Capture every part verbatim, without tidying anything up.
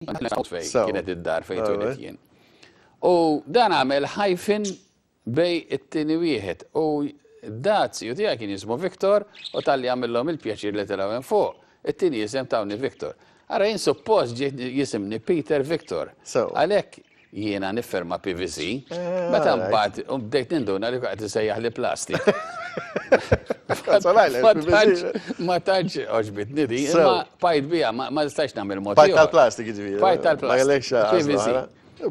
Fejn kienet id-dar fejn twelidt jien. U dan għamel hyphen bejn it-tieni wieħed u daz-ziju tiegħi kien jismu Victor u talli għamillhom il-pjaċir li telgħu hemm fuq. It-tieni jisem tawni Victor. Ara, jien suppost ġiet jisimni Peter Victor. Għalhekk jiena nifferma P V C, Eh, meta mbagħad u bdejt ninduna li qed isejjaħ li plastik. Ma tantx ma tantx għoġbitni di, imma bqajt biha, ma ma nistax nagħmel mod Bqajt ieħor. tal-plastik, ġifieri. Bqajt Ma tal-plastik. kellekx P V C.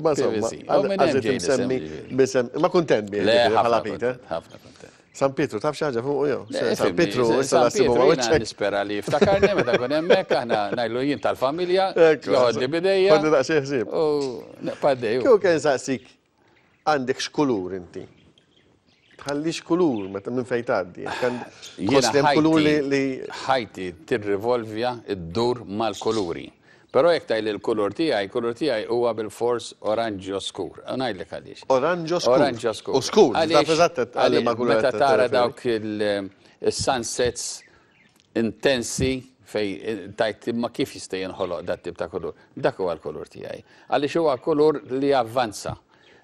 Ma insomma, P V C. U minn hemm għażilt ġej l-isem, imsemmi ġifieri. bisem, ma kuntent bih, Le, ġifieri, bħala ħafna Peter. kontent, ħafna kontent. San Pietru, taf xi ħaġa fuq jew? Le, San ifhimni, Pietru, issa San la sibu ma Pietru jiena wiċċek. nispera li jiftakarni meta kun hemmhekk, aħna ngħidlu jien tal-familja, Ekku, joħodli bidejja. Ħodni daqsxejn ħsieb. U naqpadej. Kieku kien saqsik, għandek x'kulur inti? Tħallix kulur meta minn fejn tgħaddi. Jiena Tħoss li hemm kulur li li ħajti tirrivolvja, iddur mal-kuluri. Però jekk tgħidli l-kulur tiegħi, kulur tiegħi huwa bil-fors oranġjo skur. U ngħidlek għaliex. Oranġo skur. Oranġjo skur. U skur, Għaliex- taf eżatt għalli għaliex ma kulur meta qed tara tirreferi. dawk il- il-sunsets intensi fej tajt imma kif jista' jinħoloq dat tip ta' kulur? Dak huwa l-kulur tiegħi. Għaliex huwa kulur li avvanza.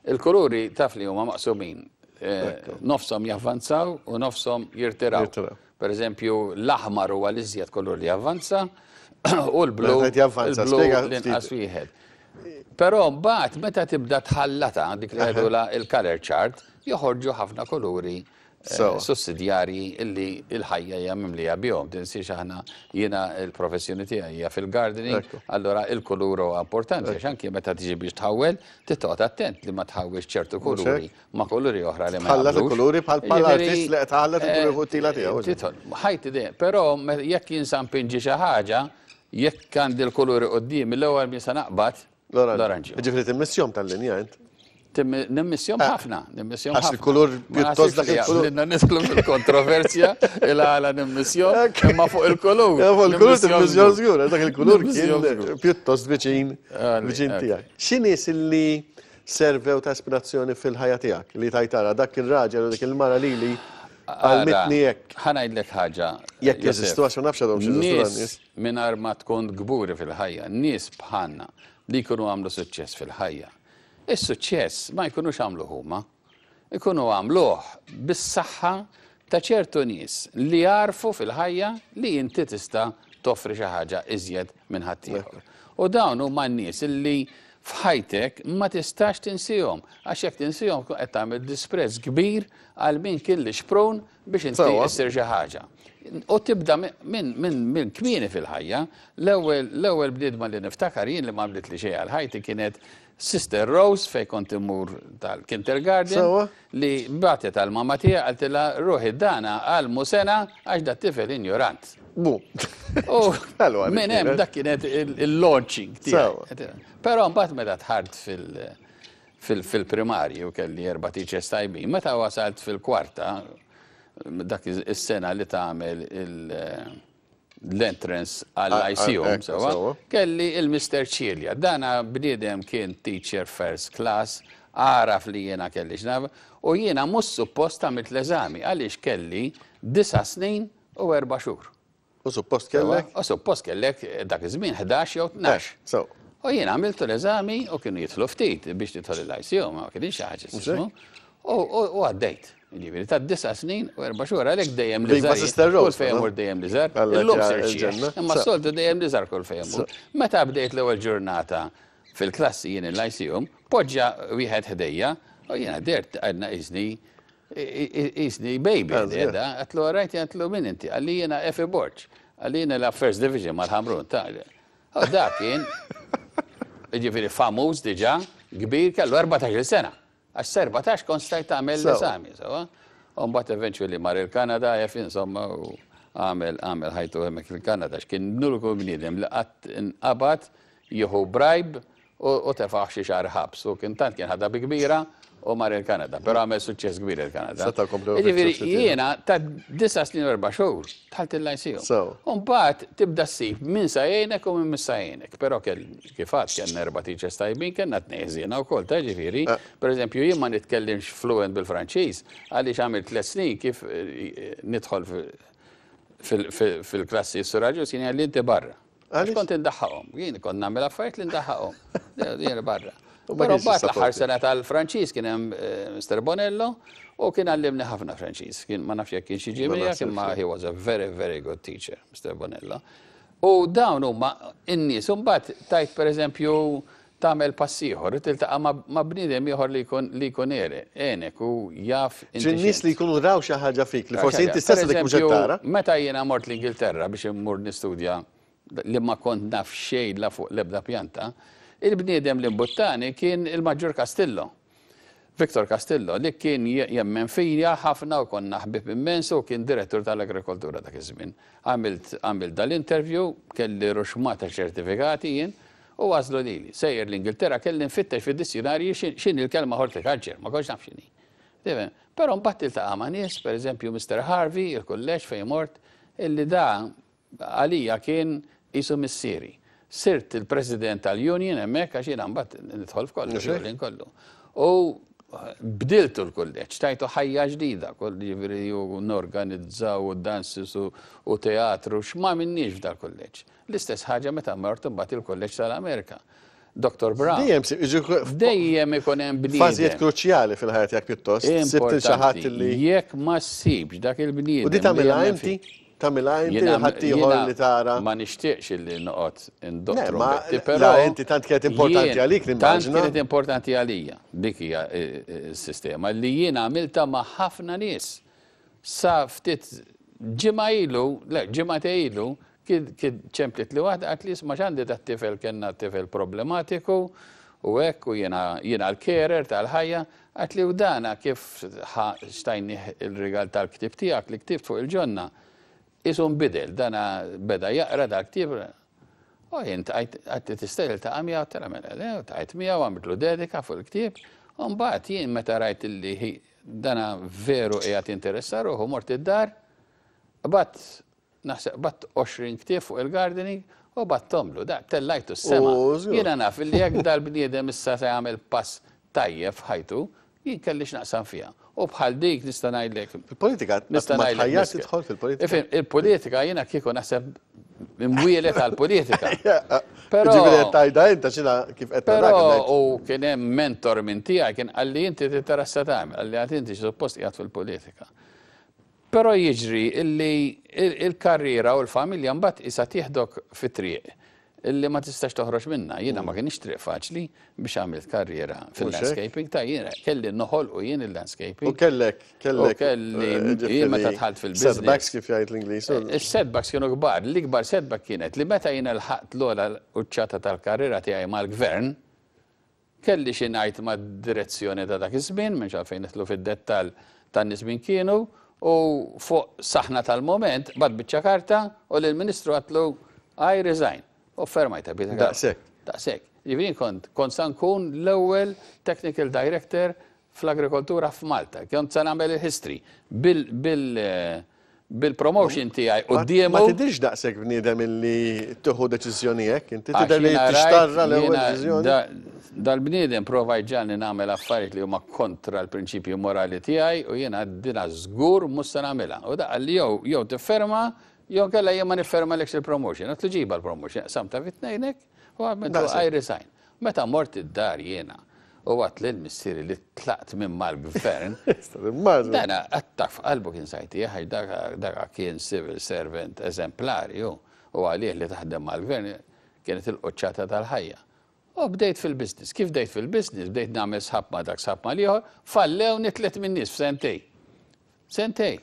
Il-kuluri taf li huma maqsumin. Eh, Nofshom javvanzaw u nofshom jirtiraw. Jirtiraw. Per eżempju, l-aħmar huwa l-iżjed kulur li javvanza u l-blu Meta javvanza, il-blu spiega l-inqas ftit. wieħed. Però mbagħad meta tibda tħallata dik li jgħidula il-color chart, joħorġu ħafna kuluri eh, Sewa. sussidjarji illi il-ħajja hija mimlija bihom. Tinsiex aħna, jiena il-professjoni tiegħi hija fil-gardening, Ekku. allora il-kulur huwa importanti għax anke meta tiġi biex tħawwel, titqgħod attent li ma tħawwilx ċertu kuluri ma' kuluri oħra li ma Tħallat jaqblux. il-kuluri bħal bħal Jiġifieri, artist li qed tħallat il-kuluri fuq it-tila tiegħu. Titħol, ħajti dejjem, però me- jekk jinsa npinġi xi ħaġa, jekk għandi l-kuluri quddiem, l-ewwel min sa naqbad l-oranġjo. Ġifieri timmissjom tal-linja int. Nimmissjom ħafna, nimmissjom Għax ħafna. il-kulur Ma pjuttost naħsibx dak li il-kulur. jaqblilna nidħlu fil-kontroversja il-għala nimmissjom, imma fuq il-kulur. Ja, fuq il-kulur nimmissjom timmissjom żgur. Żgur, dak il-kulur kien Nimmissjom żgur. pjuttost viċin Għalli, viċin ekku. tiegħek. X'nies illi servew ta' ispirazzjoni fil-ħajja tiegħek li tajtara dak ir-raġel u dik il-mara lili għallmitni hekk? Ħa ngħidlek ħaġa. Jekk Josef. jeżistu, għax ma nafx għadhom x'jeżistu dan Nies nies. mingħajr ma tkun kburi fil-ħajja, nies bħalna li jkunu għamlu suċċess fil-ħajja. Is-suċċess ma jkunux għamlu huma, ikunu għamluh bis-saħħa ta' ċertu nies li jarfu fil-ħajja li inti tista' toffri xi ħaġa iżjed minn ħaddieħor. U dawn huma n-nies illi f'ħajtek ma tistax tinsihom, għax jekk tinsihom tkun qed tagħmel disprezz kbir għal min kien li xprun biex inti Sewa. issir xi ħaġa. U tibda minn min, min kmieni fil-ħajja, l-ewwel l-ewwel bniedma li niftakar jien li ma bdilt li xejn għal ħajti kienet Sister Rose fej kont immur tal-kindergarten Sewa. li bagħtet għal mama tiegħi, qaltilha, "Ruħi dana għallmu sengħa għax dat tifel ignorant." Bu. U Ħelu għalik minn hemm kienet. dak kienet il- il-launching Sewa. tiegħi. Però mbagħad meta dħalt fil- fil- fil-primarju kelli erba' teachers tajbin. Meta wasalt fil-kwarta, dak is-sena li tagħmel il- l-entrance għall-Lyceum, Ah, ah, ekku, sewa, sewa. kelli il-Mister Cilia. Dana bniedem kien teacher first class, għaraf li jiena kelli xnaf, u jiena mhux suppost għamilt l-eżami, għaliex kelli disa snin u erba' xhur. U suppost kellek? U suppost kellek dak iż-żmien ħdax jew tnax. Eh, so. U jiena għamiltu l-eżami u kienu jidħlu ftit biex tidħol il-Lyceum, ma kienx xi ħaġa jismu. U u għaddejt. Ġifieri ta' disa snin u erba' xhur, għalhekk dejjem li Viva Sister Rose, kull fejn no? mur dejjem li żgħar. Alla Illum ġa sir xieħ. il-ġenna. Imma So. soltu dejjem li żgħar kull fejn mur. Meta bdejt l-ewwel ġurnata fil-klassi jien il-Lyceum, poġġa wieħed ħdejja u jiena dert għadna iżni isni baby Ah, ħdejja. Għedtlu rajt, għedtlu, "Min inti?" Qalli, "Jiena Efi Borg." Qalli, "Jiena la First Division mal-Ħamrun." Ta' U dak kien, ġifieri famuż diġà, kbir, kellu erbatax-il sena. Għax erbatax kont stajt tagħmel Sewa. l-eżami, sewa. U mbagħad eventually mar il-Kanada, jaf insomma, u għamel għamel ħajtu hemmhekk il-Kanada, x'kien l-uniku bniedem li qatt inqabad jieħu bribe u u tefaħ xi xahar ħabs. U kien tant kien ħadha bi kbira u mar il-Kanada, però għamel suċċess kbir il-Kanada. Seta' komplew Ġifieri fil-suċċess tiegħu. jiena ta' disa snin u erba' xhur dħalt il-Lyceum. Sewa. U mbagħad tibda ssib min sa jgħinek u min mhux sa jgħinek. Però kell kif għad kellna erba' teachers tajbin, kellna tnejn ħżiena wkoll, ta' ġifieri. Per eżempju, jien ma nitkellimx fluent bil-Franċiż għaliex għamilt tliet snin kif eh, nidħol fil- fil- fil-klassi s-suraġu kien qalli, "Inti barra." Għax kont indaħħaqhom. Jien kont nagħmel affarijiet li ndaħħaqhom. Jien barra. Però mbagħad l-aħħar sena tal-Franċiż kien hemm eh, Mister Bonello u kien għallimni ħafna Franċiż. Kien, ma nafx jekk kien xi ġimgħa, imma he was a very, very good teacher, Mister Bonello. U dawn huma in-nies, u mbagħad tajt, pereżempju, tagħmel pass ieħor, tiltaqa' ma' bniedem ieħor li jkun li jkun għenek u jaf. Nies li jkunu raw xi ħaġa fik li forsi inti stess dik mhux tara. Meta jiena mort l-Ingilterra biex immur nistudja, li ma kont naf xejn la fuq l-ebda pjanta, il-bniedem li mbuttani kien il-Maġġur Castillo. Victor Castillo, li kien jemmen fija ħafna u konna ħbib immens u kien direttur tal-agrikoltura dak iż-żmien. Għamilt għamilt dal-interview, kelli ruxmata ċertifikati jien, u għażlu lili. Sejjer l-Ingilterra, kelli nfittex fid-dizzjonarji x'inhi l-kelma horticulture, ma kontx naf x'inhi. Però mbagħad tiltaqa' ma' nies, pereżempju Mister Harvey, il-kulleġġ fejn mort, illi da għalija kien qisu missieri. Sirt il-president tal-union hemmhekk, għax jiena mbagħad nidħol f'kollu, kollu. U bdiltu l-kulleġġ, tajtu ħajja ġdida, kull ġifieri u norganizzaw u dances u teatru, x'ma minniex f'dal-kulleġġ. L-istess ħaġa meta mort imbagħad il-kulleġġ tal-Amerika. Doktor Brown. Dejjem Dejjem ikun hemm bniedem. Fażijiet kruċjali fil-ħajja tiegħek pjuttost. Sibt xi ħadd li Jekk ma ssibx dak il-bniedem. U di tagħmilha inti? Tagħmilha inti, ħadd ieħor li tara? Ma nixtieqx illi noqgħod indoq trombetti, però inti tant kienet importanti għalik li Tant kienet importanti għalija. Dik hija s-sistema li jiena għamilta ma' ħafna nies. Sa ftit ġimgħa ilu, le, ġimgħa ilu, kien ċemplit li waħda, għat li isma', x'għandi dat-tifel, kellna tifel problematiku u hekk, u jiena jiena l-carer tal-ħajja, għat li u dana kif xtajni il-rigal tal-ktib tiegħek li ktibt fuq il-ġonna. Isu nbidel, dana beda jaqra dal-ktib. U jien għedt, "Tista' tiltaqa' miegħu?" Tara mela, le, ltqajt miegħu, għamiltlu dedika fuq il-ktib. U mbagħad jien meta rajt illi dana veru qiegħed interessa ruħu, mort id-dar, bgħatt, naħseb bgħatt għoxrin ktieb fuq il-gardening u bgħatthomlu, da tellajtu s-sema. Jiena naf li jekk dal-bniedem issa se jagħmel pass tajjeb f'ħajtu, jien kelli x'naqsam fiha. U bħal dik nista' ngħidlek. Il-politika, nista' ngħidlek tidħol fil-politika. Il-politika, jiena kieku naħseb imwieled għal-politika. Però ġifieri tajda inta xina kif qed Però u kien hemm mentor minn tiegħi kien qalli, "Inti titarassa tagħmel," qalli, "għad inti suppost qiegħed fil-politika." Però jiġri illi il-karriera u l-familja mbagħad isa tieħdok fit-triq illi ma tistax toħroġ minna. Jiena ma kienx triq faċli biex għamilt karriera fil-landscaping ta' jiena kelli noħol u jien il-landscaping. U kellek, kellek. U kelli, jien meta dħalt fil-business. Setbacks, kif jgħid l-Ingliż. Is-setbacks kienu kbar. L-ikbar setback kienet li meta jiena lħaqt l-ogħla quċċata tal-karriera tiegħi mal-gvern, kelli xi ngħid mad-direzzjoni ta' dak iż-żmien, minn għalfejn nidħlu fid-dettall tan-nies min kienu, u fuq saħna tal-moment, bgħatt biċċa karta u lill-ministru għedtlu, "I resign." U fermajta bita. Daqsek. Daqsek. Ġifieri kont, kont sa nkun l-ewwel technical director fl-agrikoltura f'Malta. Kont sa nagħmel il-history bil bil bil-promotion tiegħi quddiemu. Ma tidirx daqshekk bniedem illi tieħu deċiżjoni hekk, inti tidher li tixtarra l-ewwel deċiżjoni. Dal-bniedem prova jġagħalni nagħmel affarijiet li huma kontra l-prinċipju morali tiegħi u jiena dina żgur mhux se nagħmilha. U da qalli, jew jew tifferma jew kella jien ma nifferma il-promotion. Għedtlu, "Ġiba l-promotion," samta fit-tnejnek u għamiltu "I resign." Meta mort id-dar jiena u għedt lil missieri li tlaqt minn mal-gvern. Dana attak f'qalbu, kien sajti, dak kien civil servant eżemplari u għalih li taħdem mal-gvern kienet il-quċċata tal-ħajja. U bdejt fil-business. Kif bdejt fil-business? Bdejt nagħmel sħab ma' dak, sħab ma' l-ieħor, fallewni tliet minn nies f'sentejn. Sentejn.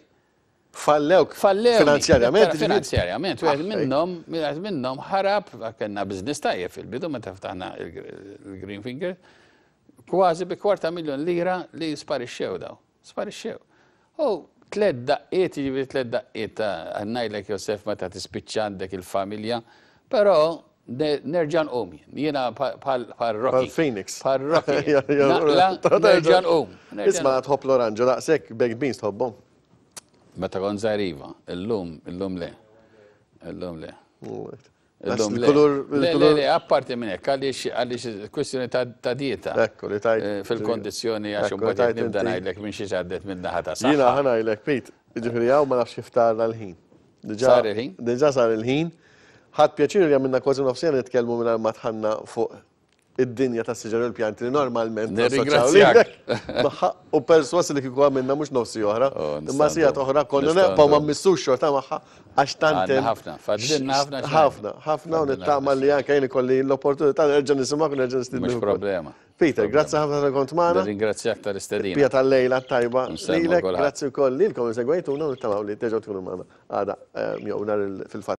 Fallewk? Fallewni. Finanzjarjament? Finanzjarjament. Wieħed minnhom, wieħed minnhom ħarab, kellna business tajjeb fil-bidu meta ftaħna il-Green Finger, kważi bi kwarta miljon lira li sparixxew daw. Sparixxew. U tliet daqqiet, ġifieri tliet daqqiet, ngħidlek, Josef, meta tispiċċa għandek il-familja, però nerġa' nqum. Jiena bħal Rocky. Bħal Phoenix. Bħal Rocky. Nerġa' nqum. Isma', tħobb l-oranġo daqshekk, baked beans tħobbhom? Meta kont żgħir iva, illum, illum le. Illum le. Illum le. Le, le, le, apparti minn hekk, għaliex għaliex kwestjoni ta' dieta. Ekku, li tajt. Eh, fil-kondizzjoni, għax imbagħad nibda ngħidlek minn xi għaddet minn naħa ta' Jiena ħa ngħidlek, Pete, ġifieri hawn ma nafx kif tara l-ħin. Sar il-ħin? Diġà sar il-ħin. Ħadt pjaċir li għamilna kważi nofs siegħa nitkellmu mingħajr ma dħalna fuq id-dinja tas-siġar u l-pjanti li normalment nassoċjaw Nirringrazzjak. lilek magħha, u perswas li kieku għamilna mhux nofs siegħa oħra, Oh, imma siegħa oħra konna nistgħu neqpaw ma ndu. mmissux xorta magħha għax tant Għandna hemm ħafna, fadlilna ħafna xogħol. Ħafna, ħafna, u Fadlilna nittama ħafna. li anke jien ikolli l-opportunità nerġa' nisimgħek u nerġa' nistiednu Mhux ukoll. problema. Peter, grazzi ħafna tal kont magħna. Nirringrazzjak tal-istedina. Pija tal-lejla tajba Nsellmu lilek, kulħadd. grazzi wkoll lilkom segwejtuna u nittamaw li terġgħu tkunu magħna għada eh, jew nhar il- fil-fatt.